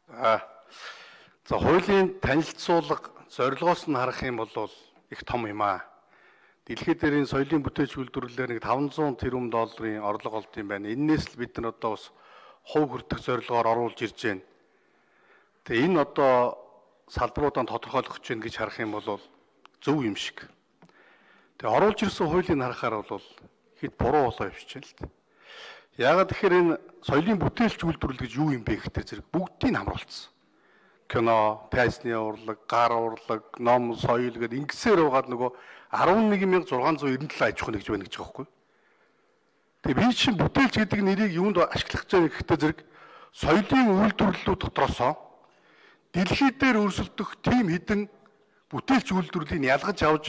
За хуулийн танилцуулга зорилгоос нь харах юм бол их том юм аа. Дэлхийд дээрийн соёлын бүтээж үйлдвэрлэлээр нэг 500 тэрбум долларын орлого олд юм байна. Эннээс л бид нар одоо бас хувь хүртэх зорилгоор оруулж ирж байна. Тэгээ энэ одоо салбаруудаа тодорхойлох гэж гэж харах юм бол зөв юм шиг. Тэгээ оруулж ирсэн хуулийн харахаар бол хэд буруу болоо явчихжээ л дээ. Яагаад тэгэхээр энэ соёлын бүтээлч үйлдвэрлэл гэж юу юм бэ гэхээр зэрэг бүгдийг хамруулсан. Кино, фэшны урлаг, гар урлаг, ном, соёл гэдэг ингэсээр угаад нөгөө 11,697 аж ахуй нэгж байна гэж байгаа байхгүй. Тэгээ би чинь бүтээлч гэдэг нэрийг юунд ашиглах гэж байгаа гэхдээ зэрэг соёлын үйлдвэрлэлүүд дотроосоо дэлхийд дээр өрсөлдөх тийм хідэн бүтээлч үйлдвэрлэлийг ялгаж авч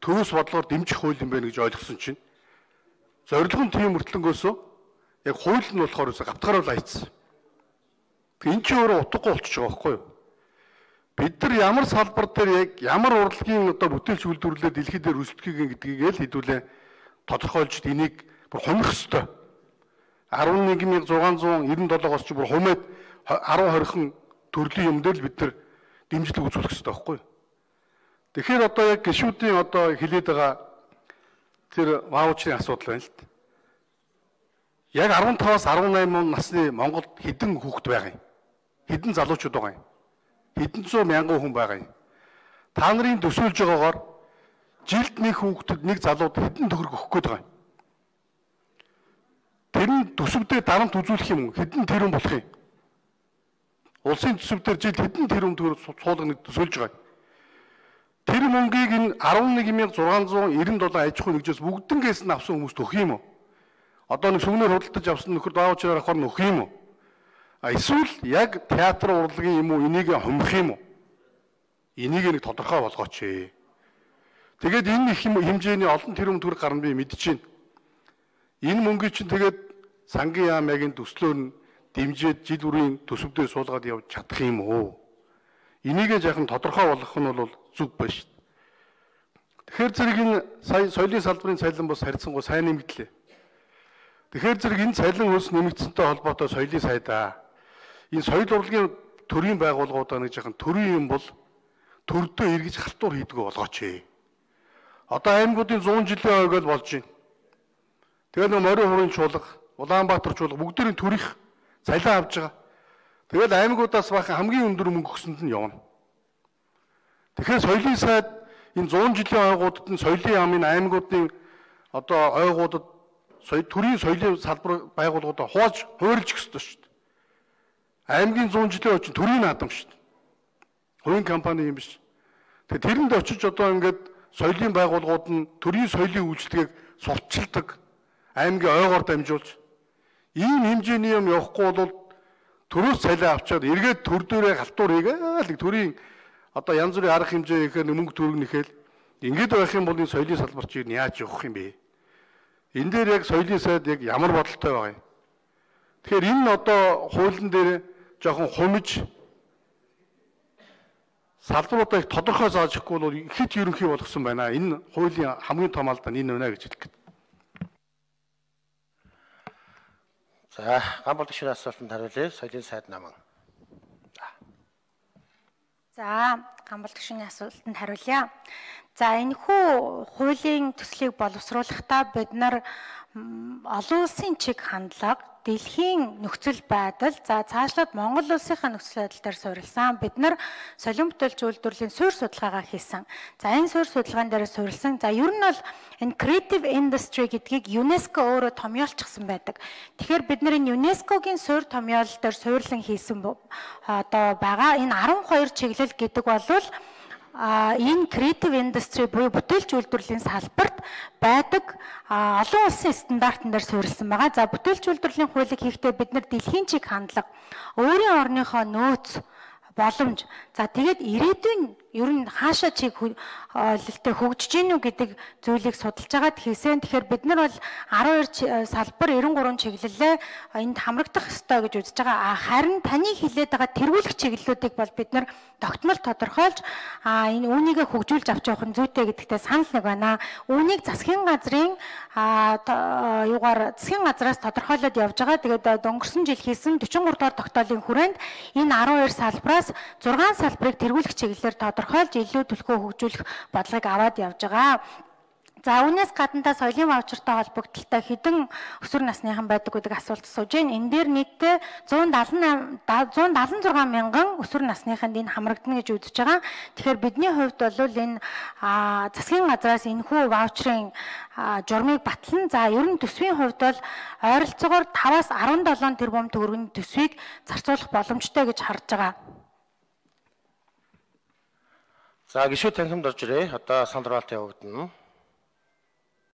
төвөөс бодлоор дэмжих хууль юм байна гэж ойлгосон чинь зорилго нь тийм мөртлөнгөөсөө яг хууль нь болохоор гавтгаар бол айцсан. Энэ чинь өөрөө утгагүй болчихж байгаа байхгүй юу? Бид нар ямар салбар дээр яг ямар урлагийн одоо бүтээлч үйлдвэрлэлээр дэлхийд дээр өрсөлдөхийг гэдгийг л хэдүүлээ тодорхойлж энийг бүр хумих ёстой. 11,697-оос ч бүр хумээд 10-20 төрлийн юм дээр л бид нар дэмжлэг үзүүлэх ёстой байхгүй юу? Тэгэхээр одоо яг гишүүдийн одоо хэлээд байгаа тэр ваучрын асуудал байна л дээ. Яг 15-аас 18 насны Монголд хэдэн хүүхэд байгаа юм? Хэдэн залуучууд байгаа юм? Хэдэн зуун мянган хүн байгаа юм? Та нарын төсөөлж байгаагаар жилд нэг хүүхдэд нэг залууд хэдэн төгрөг өгөх гээд байгаа юм? Тэр нь төсөвдөө дарамт үзүүлэх юм уу? Хэдэн тэрбум болох юм? Улсын төсөвдөр жилд хэдэн тэрбум төгрөг суулгана төсөөлж байгаа юм? Тэр мөнгийг энэ 11,697 аж ахуй нэгжээс бүгднгээс нь авсан хүмүүст өгөх юм уу? Одоо нэг сүгнээр худалдаж авсан нөхөр даавчраар авахар нөх юм уу? Эсвэл яг театр урлагийн юм уу энийг хумих юм уу? Энийг нэг тодорхой болгооч ээ. Тэгээд энэ их хэмжээний олон тэрбум төгрөг гарна би мэдчихээн. Энэ мөнгийг чинь тэгээд сангийн яамын төслөөр нь дэмжиж жил бүрийн төсөвдөө суулгаад явж чадах юм уу? Энийг жаахан тодорхой болгох нь бол зүг байна шүү дээ. Тэгэхээр зэрэг энэ соёлын салбарын цалин бас харьцангуй сайн нэмэгдлээ. Тэгэхээр зэрэг энэ цалин хөлс нэмэгдсэнтэй холбоотой соёлын сайдаа энэ соёл урлагийн төрийн байгууллагуудаа нэг жаахан төрийн юм бол төрдөө эргэж халтур хийдгүү болгооч ээ. Одоо аймагуудын 100 жилийн ойг л болж байна. Тэгээд нэг морин хурын чуулга, Улаанбаатар чуулга бүгдээрийн төрийнх цалин авж байгаа. Тэгээд аймагуудаас бахан хамгийн өндөр мөнгө өгсөнд нь явна. Тэгэхээр соёлын сайд энэ 100 жилийн ойгуудад нь соёлын яамын аймагуудын одоо ойгуудад төрийн соёлын салбар байгууллагуудаа хувааж хуурилж өгөх ёстой шүү дээ. Аймгийн 100 жилийн очиж төрийн наадам шүү дээ. Хувийн компани юм биш. Тэгээ тэрэнд очиж одоо ингээд соёлын байгууллагууд нь төрийн соёлын үйлчлэгийг сурталчилдаг аймгийн ойгоор дамжуулж ийм хэмжээний юм явахгүй бол төрөөс цалин авчаад эргээд төр дээрээ халтур хийгээл төрийн одоо янз бүрийн арга хэмжээ ихээр мөнгө төргнөхэл ингээд байх юм бол энэ соёлын салбар чинь яаж явах юм бэ? Энэ дээр яг соёлын сайд яг ямар бодолтой байгаа юм? Тэгэхээр энэ одоо хуулийн дээр жоохон хумиж салбаруудаа их тодорхой зааж өгөхгүй бол ихэд ерөнхий болгосон байна. Энэ хуулийн хамгийн том алдаа энэ байна гэж хэлэх гээд. За, Гамбол гишүүний асуултанд хариулъя. Соёлын сайд наман. За, Гамбол гишүүний асуултанд хариулъя. За, энэхүү хуулийн төслийг боловсруулахдаа бид нар олон улсын чиг хандлага, дэлхийн нөхцөл байдал, за цаашлаад Монгол улсынхаа нөхцөл байдал дээр суурилсан бид нар соёлын бүтээлч үйлдвэрлэлийн суурь судалгаагаа хийсэн. За энэ суурь судалгаан дээр суурилсан. За ер нь бол энэ creative industry гэдгийг ЮНЕСКО өөрөө томьёолчихсан байдаг. Тэгэхээр бид нар энэ ЮНЕСКОгийн суурь томьёол дээр суурлан хийсэн одоо байгаа. Энэ 12 чиглэл гэдэг бол энэ creative industry буюу бүтээлч үйлдвэрлэлийн салбарт байдаг олон улсын стандартн дээр суурилсан байгаа. За бүтээлч үйлдвэрлэлийн хуулийг хийхдээ бид нар дэлхийн чиг хандлага, өөрийн орныхоо нөөц, боломж, за тэгээд ирээдүйн ер нь хаашаа чиг ойлолтой хөгжиж гинүү гэдэг зүйлийг судалж байгаад хийсэн. Тэгэхээр бид нар бол 12 салбар 93 чиглэлээ энд хамрагдах ёстой гэж үзэж байгаа. Харин таны хэлээд байгаа тэргүүлэх чиглэлүүдийг бол бид нар тогтмол тодорхойлж энэ үүнийгээ хөгжүүлж авч явах нь зүйтэй гэдэгтээ санал нэг байна. Үүнийг засгийн газрын засгийн газраас тодорхойлоод явж байгаа. Тэгээд өнгөрсөн жил хийсэн 43 дугаар тогтоолын хүрээнд энэ 12 салбараас 6 салбарыг тэргүүлэх чиглэлээр тодорхойлж илүү төлхөө хөгжүүлэх бодлогыг аваад явж байгаа. За үүнээс гадна соёлын ваучертай холбогдлолтой хэдэн өсвөр насныхан байдаг гэдэг асуулт сууж байна. Энэ дээр нийтдээ 176 мянган өсвөр насныханд энэ хамрагдана гэж үзэж байгаа. Тэгэхээр бидний хувьд бол энэ засгийн газраас энэхүү ваучрын журмыг батлан за ер нь төсвийн хувьд бол ойролцоогоор 5-аас 17 тэрбум төгрөгийн төсвийг зарцуулах боломжтой гэж харж байгаа. За гишүүд танхимд орж ирээ. Одоо санал хураалт явагдана.